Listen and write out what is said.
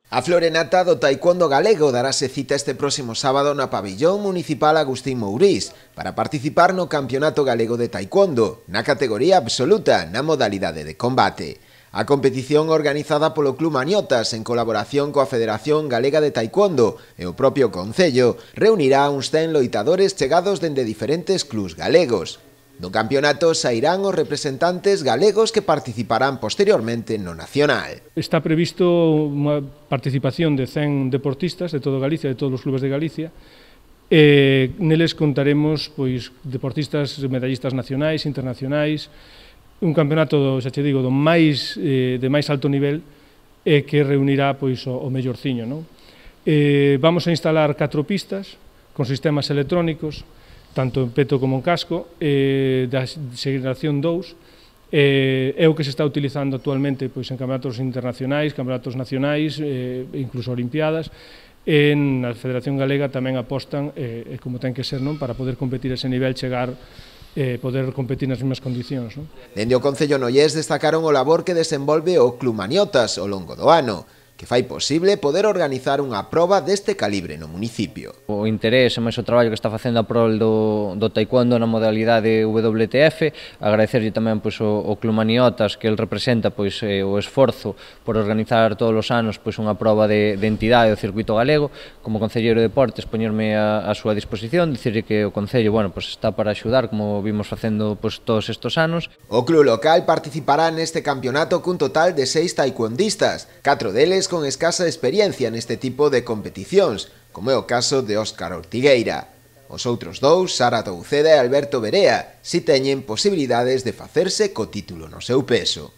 A florenata do taekwondo galego darase cita este próximo sábado na pabillón municipal Agustín Mourís para participar no Campeonato Galego de Taekwondo, na categoría absoluta, na modalidade de combate. A competición organizada polo Club Maniotas en colaboración coa Federación Galega de Taekwondo e o propio Concello reunirá uns 100 loitadores chegados dende diferentes clubs galegos. No campeonato sairán os representantes galegos que participarán posteriormente no nacional. Está previsto unha participación de 100 deportistas de todo Galicia, de todos os clubes de Galicia. Neles contaremos deportistas medallistas nacionais, internacionais, un campeonato, xa che digo, de máis alto nivel que reunirá o mellorciño. Vamos a instalar 4 pistas con sistemas electrónicos, tanto en peto como en casco, da xeración 2, é o que se está utilizando actualmente en campeonatos internacionais, campeonatos nacionais, incluso olimpiadas. Na Federación Galega tamén apostan, como ten que ser, para poder competir a ese nivel, poder competir nas mesmas condicións. Dende o Concello Nollés destacaron o labor que desenvolve o Club Maniotas ao longo do ano, que fai posible poder organizar unha proba deste calibre no municipio. O interés e máis o traballo que está facendo a prol do taekwondo na modalidade WTF, agradecerlle tamén o Club Maniotas, que el representa o esforzo por organizar todos os anos unha proba de entidade do circuito galego. Como concelleiro de deportes, poñerme a súa disposición, dicirlle que o Concello está para axudar, como vimos facendo todos estes anos. O club local participará neste campeonato cun total de 6 taekwondistas, 4 deles con escasa experiencia neste tipo de competicións, como é o caso de Óscar Ortigueira. Os outros 2, Sara Touceda e Alberto Berea, si teñen posibilidades de facerse co título no seu peso.